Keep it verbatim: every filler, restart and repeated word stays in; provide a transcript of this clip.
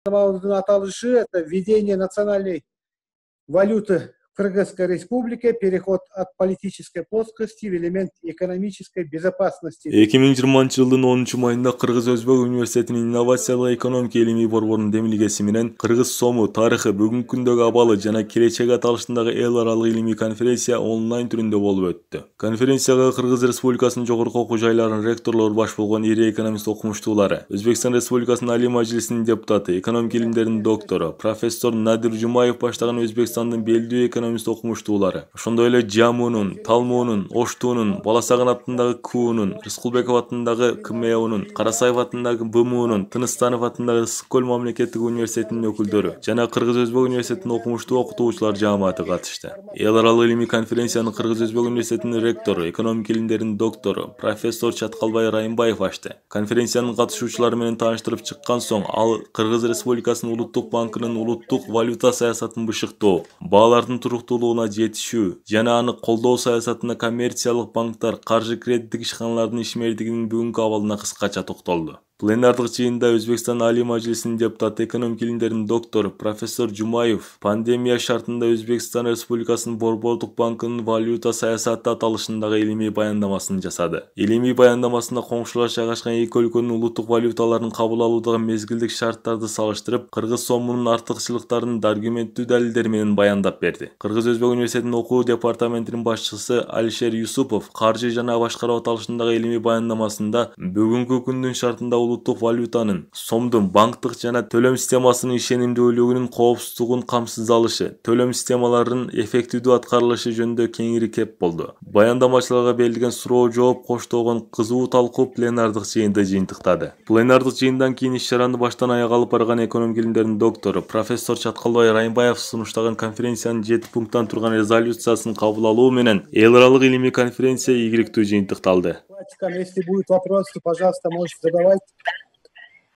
Аталышы — это введение национальной валюты в Кыргызской республике, переход от политической плоскости в элемент экономической безопасности. эки миң жыйырманчы жылдын онунчу майында Кыргыз Өзбек университетинин инновациялык экономика илимий борборунун демилгеси менен Кыргыз сому тарыхы, бүгүнкү күндөгү абалы жана келечеги аталышындагы эл аралык илимий конференция онлайн түрүндө болуп өттү. Конференцияга Кыргыз Республикасынын жогорку окуу жайларынын ректорлору баш болгон ири экономист окумуштуулары, Өзбекстан Республикасынын Алий Мажлисинин депутаты, экономика илимдеринин доктору, профессор Надир Жумаев баштаган Өзбекстандын белдүү экономист окумуштуулары, ошондой эле Жамунун, Талмуунун, Оштуунун, Баласагын атындагы Куунун, Рыскулбеков атындагы КМЭУнун, Карасаев атындагы БМУнун, Тыныстанов атындагы Ысык-Көл мамлекеттик университетинин өкүлдөрү жана Кыргыз Өзбек университетинин окумуштуу окутуучулар жааматы катышты. Эл аралык илимий конференцияны Кыргыз Өзбек университетинин ректору, экономика илимдеринин доктору, профессор Чаткалбай Райымбаев ачты. Конференциянын катышуучулары менен тааныштырып чыккан соң, ал Кыргыз Республикасынын Улуттук банкынын улуттук валюта саясатын бышыктоо, баалардын туруктуулугуна жетишүү жана аны колдоо саясатына коммерциялык банктар, каржы кредиттик ишканалардын ишмердигинин бүгүнкү абалына кыскача токтолду. Пленардык жыйында Өзбекстан Алий Мажлисинин депутаты, экономика илимдеринин доктору, профессор Жумаев пандемия шартында Өзбекстан Республикасынын Борбордук банкынын валюта саясаты аталышындагы илимий баяндамасын жасады. Илимий баяндамасында коңшулаш жайгашкан эки өлкөнүн улуттук валюталарын кабыл алуудагы мезгилдик шарттарды салыштырып, Кыргыз сомунун артыкчылыктарын аргументтүү далилдер менен баяндап берди. Кыргыз Өзбек университетинин окуу департаментинин башчысы Алишер Юсупов каржы жана башкаруу аталышындагы илимий баяндамасында бүгүнкү күндүн шартында улуттук валютанын, сомдун банктык жана төлөм системасынын ишенимдүүлүгүнүн коопсуздугун камсыз алышы, төлөм системаларынын эффективдүү аткарылышы жөнүндө кеңири кеп болду. Баяндамачыларга берилген суроо жооп коштогон кызуу талкуу пленардык жыйынды жыйынтыктады. Пленардык жыйындан кийин иш-чараны баштан аяк алып барган экономика илимдеринин доктору, профессор Чаткалбай Райымбаев сунуштаган конференциянын жети пункттан турган резолюциясын кабыл алуу менен эл аралык илимий конференция ийгиликтүү жыйынтыкталды. Если будут вопросы, пожалуйста, можете задавать.